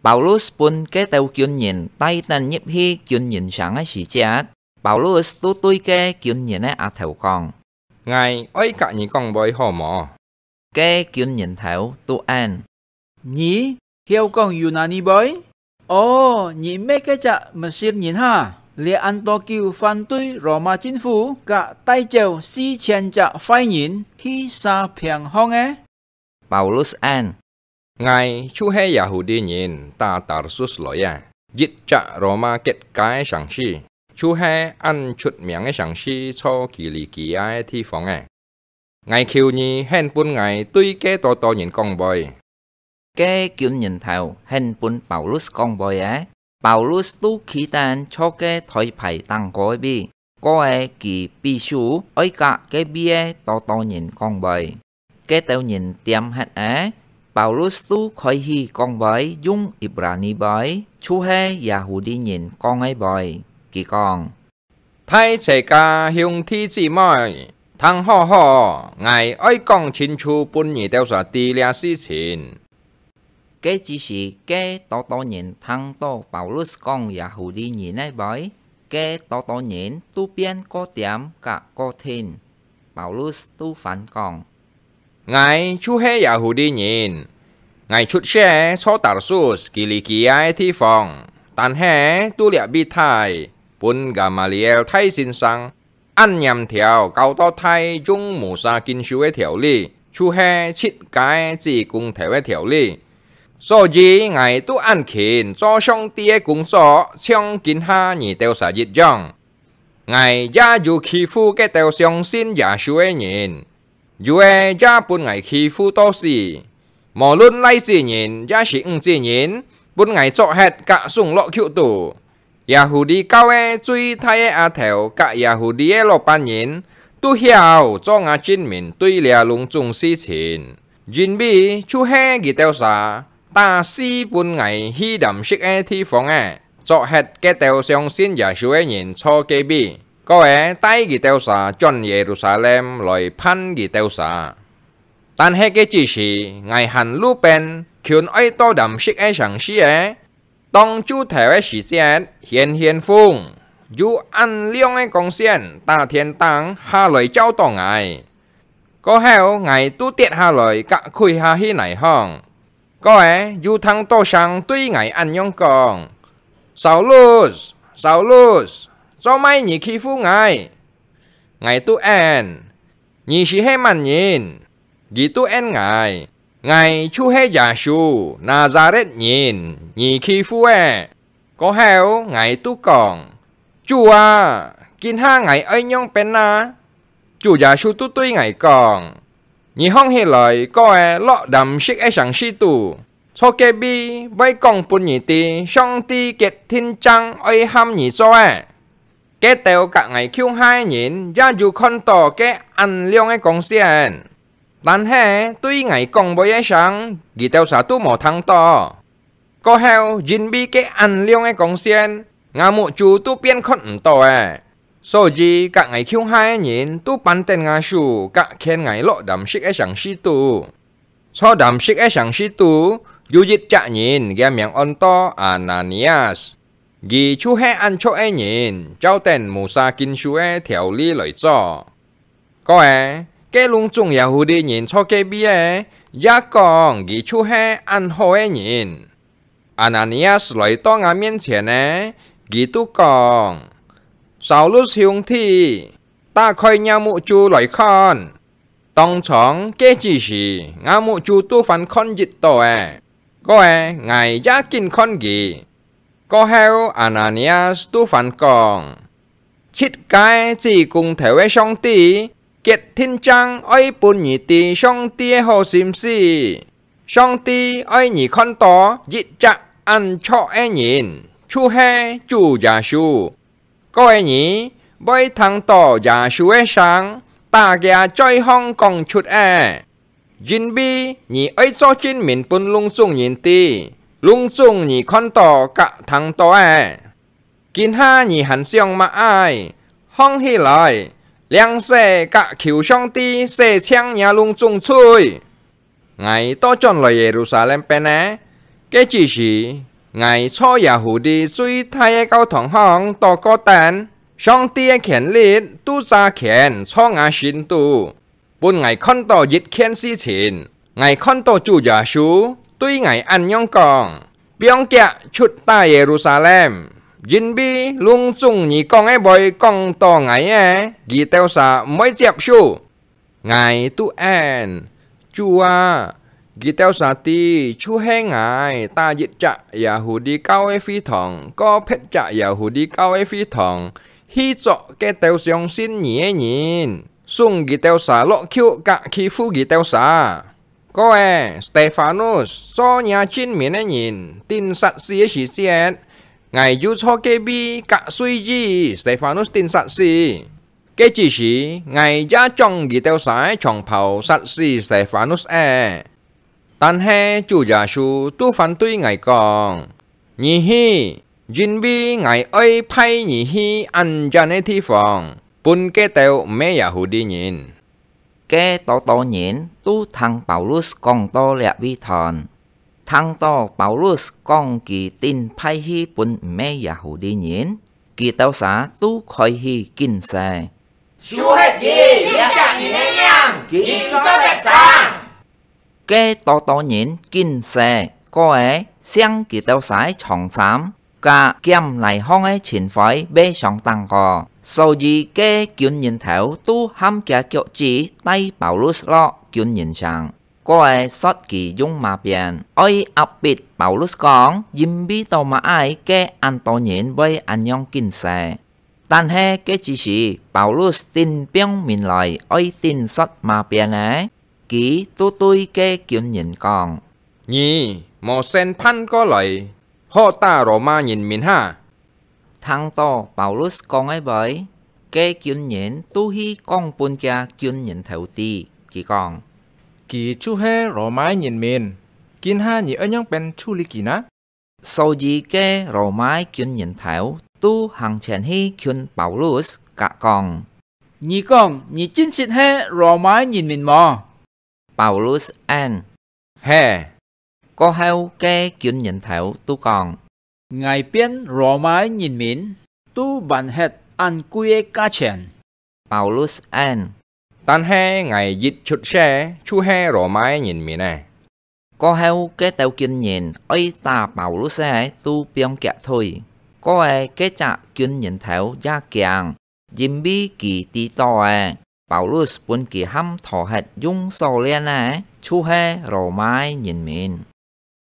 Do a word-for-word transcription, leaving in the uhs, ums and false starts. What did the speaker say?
Paulus分該兜軍人帶等入去軍人城个時節，Paulus都對該軍人个阿頭講：「𠊎愛佮你講話好無？」該軍人頭都應：「你曉講Yunani話？哦，你毋係該隻Mesir人哈？這恁多久反對羅馬政府，佮帶走四千隻壞人去沙坪項个？」Paulus應：「𠊎就係Yahudi人，打Tarsus來个，一隻羅馬結界个城市，就係恁出名个城市，在Kilikia个地方个。 𠊎求你，肯分𠊎對該多多人講話。」該軍人頭肯分Paulus講話个，Paulus都企等在該台牌頂高个位，過仔佢比手愛佮該位个多多人講話。該兜人恬忒仔，Paulus都開始講話，用Ibrani話，就係Yahudi人講个話。佢講： 「大齊家兄弟姊妹，聽好好，𠊎愛講清楚分你兜儕知這事情。」該只時，該多多人聽到Paulus講Yahudi人个話，該多多人都變過恬佮過定。Paulus都還講： 「𠊎就係Yahudi人，𠊎出世在Tarsus，Kilikia个地方，但係都這位大，分Gamaliel大先生恁嚴條教到大，用Musa經書个條理，就係自家个子公頭个條理。所以𠊎都恁勤做上帝个工作，像今下你兜儕一樣。𠊎也有欺負該兜相信耶穌个人， 有个也分𠊎欺負到死。無論倈子人也係女子人，分𠊎捉忒，㧯送落獄肚。Yahudi教个最大个阿頭佮Yahudi个老闆人，都曉做吾證明對這攏種事情，因為就係佢兜儕打死分𠊎去Damskik个地方仔，捉忒該兜相信耶穌个人坐該位。 過仔帶佢兜儕轉耶路撒冷來辦佢兜儕。但係該只時，𠊎還路邊，近愛到Damskik个城市仔，當晝頭个時節，顯顯風，有恁亮个光線，打天頂下來照到𠊎。過後，𠊎都跌下來，佮跪下去泥項。 過仔，有聽到聲對𠊎恁樣講：「Saulus，Saulus，做麼你欺負𠊎？」𠊎都應：「你斯係麼人？」佢都應𠊎：「𠊎就係耶穌，拿撒勒人，你欺負个。」 過後，𠊎都講：「主啊，今下𠊎愛仰般啊？」主耶穌都對𠊎講：「你䟘起來，過仔落Damskik个城市肚，坐該位會講分你知，上帝決定正愛喊你做个。」該兜佮𠊎共下个人也有看到該恁亮个光線，但係對𠊎講話个聲，佢兜儕都無聽到。 過後，因為該恁亮个光線，吾目珠都變看毋到了。所以，佮𠊎共下个人都扳等吾手，佮牽𠊎落Damskik个城市肚。坐Damskik个城市肚，有一隻人，厥名安到Ananias。佢就係恁著个人，照等Musa經書个條例來做。 過仔，該攏總Yahudi人坐該位仔，也講佢就係恁好个人。Ananias來到吾面前呢，佢都講：「Saulus兄弟，打開若目珠來看。」當場該只時，吾目珠都還看得到了。過仔，𠊎也緊看佢。 過後，Ananias都還講：「自家个子公頭个上帝，決定正愛分你知上帝个好心思。上帝愛你看到一隻恁著个人，就係主耶穌。過仔你會聽到耶穌个聲，打厥嘴項講出仔。 因為你愛做證明分攏總人知，攏總你看到佮聽到个。今下你還想麼个？䟘起來，領洗佮求上帝洗淨若攏總罪。」𠊎倒轉來耶路撒冷邊仔，該只時， ，𠊎在Yahudi最大个教堂項禱告等，上帝个權力都揸權在𠊎心肚，分𠊎看到一件事情。𠊎看到主耶穌對𠊎恁樣講：「放遽出打Yerusalem，因為攏總你講个話講到𠊎个，佢兜儕毋會接受。」 𠊎都應：「主啊，佢兜儕知，就係𠊎打一隻Yahudi教个會堂，過別隻Yahudi教个會堂，去捉該兜相信你个人，送佢兜儕落去，甲欺負佢兜儕。」過仔，Stefanus做若證明个人，釘殺死个時節，𠊎又在隔壁甲隨意，Stefanus釘殺死。 該之時，𠊎也將佢兜儕个長袍殺死Stefanus仔。但係主耶穌都反對𠊎講：「你去，因為𠊎愛派你去恁遠个地方，分該兜毋係Yahudi人。」該多多人都聽Paulus講到這位段， 聽到Paulus講佢釘派去分毋係Yahudi人，佢兜儕都開始禁誓：「就係佢，這隻人个名，佢做得生！」該多多人禁誓，過仔，成佢兜儕長衫，甲劍來項个情況，會相當過。所以該軍人頭都含厥腳趾帶Paulus落軍人城。 過仔說佢用馬鞭，愛壓迫Paulus講，因為到麼个該恁多人會恁樣禁誓。但係該之時，Paulus頂放面來，愛頂說馬鞭仔，佢都對該軍人講：「你無先盤過來，好打羅馬人面哈！」 聽到Paulus講个話，該軍人都去講分厥軍人頭知，佢講：「佢就係羅馬人面，今下你愛仰般處理佢呢？」所以該羅馬軍人頭都行前去近Paulus，甲講：「你講，你真實係羅馬人面無？」Paulus應：「係。」過後該軍人頭都講：「𠊎變羅馬人面，都還核恁貴个價錢。」Paulus應：「但係𠊎一出世就係羅馬人面仔。」過後該兜軍人愛打Paulus个都放厥退，過仔該隻軍人頭也驚， 因為佢知到仔，Paulus分佢含討核用鎖鏈个，就係羅馬人面。